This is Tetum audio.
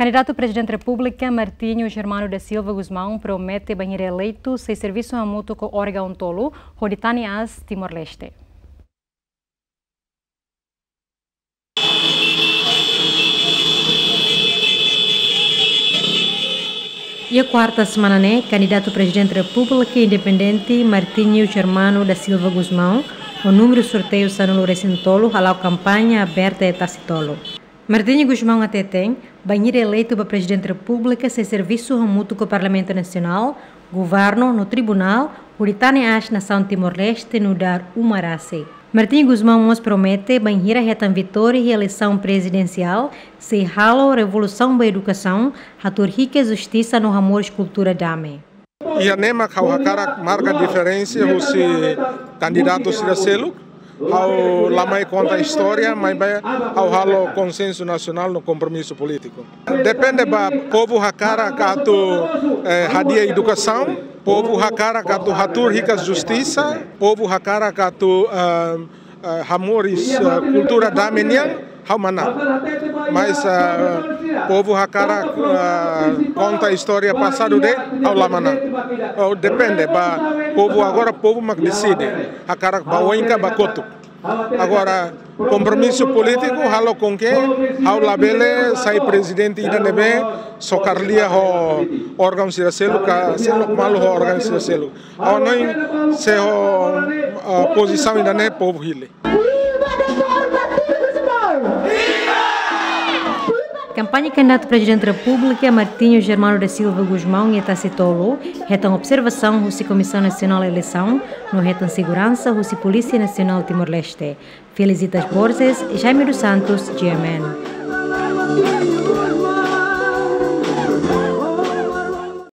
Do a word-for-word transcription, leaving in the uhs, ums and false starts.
Kandidatu Prezidente Repúblika Martinho Germano da Silva Gusmão promete bainhira eleitu sei servisu hamutuk ho órgaun tolu hodi tane aas Timor-Leste. Iha kuarta semana ne'e, kandidatu Prezidente Repúblika independente Martinho Germano da Silva Gusmão, ho númeru sorteiu sanulu-resin-tolu, hala'o kampaña aberta iha Tasi Tolu. Martinho Gusmão hateten, bainhira eleitu ba Prezidente Repúblika sei servisu hamutuk ho Parlamentu Nasionál, Governu no Tribunál, hodi tane aas nasaun Timor-Leste nu'udar uma rasik. Martinho Gusmão mós promete, bainhira hetan vitória iha eleisaun prezidensiál, sei halo revolusaun ba edukasaun, hatuur hikas justisa no hamoris kultura dame. Iha ne'e mak ha'u hakarak marka diferensa husi kandidatu sira seluk. Ha'u la mai konta istória, maibé ha'u halo konsensu nasionál no kompromisu polítiku. Depende ba povu hakarak atu, eh, hadi'a edukasaun, povu hakarak atu hatuur hikas justisa, povu hakarak atu, eh, eh, hamoris, eh, kultura dame nian, ha'u manán. Mas, eh, povu hakarak, eh, konta istória pasadu de'it, ha'u la manán. Oh, depende ba povu agora, povu mak deside. Hakarak ba oin ka ba kotuk. Agora, kompromisu polítiku halo com que ha'u labele sai prezidente ida ne'ebé sokar lia ho órgaun sira seluk ka seluk malu ho órgaun sira seluk. Ha'u hanoin se ho, ah, pozisaun ida-ne'e povu hili. Kampaña kandidatu Prezidente Repúblika Martinho Germano da Silva Gusmão iha Tasi Tolu hetan observasaun husi Komisaun Nasionál Eleisaun no hetan seguransa husi Polísia Nasionál Timor-Leste. Felicitas Borges, Jaime dos Santos, G M N.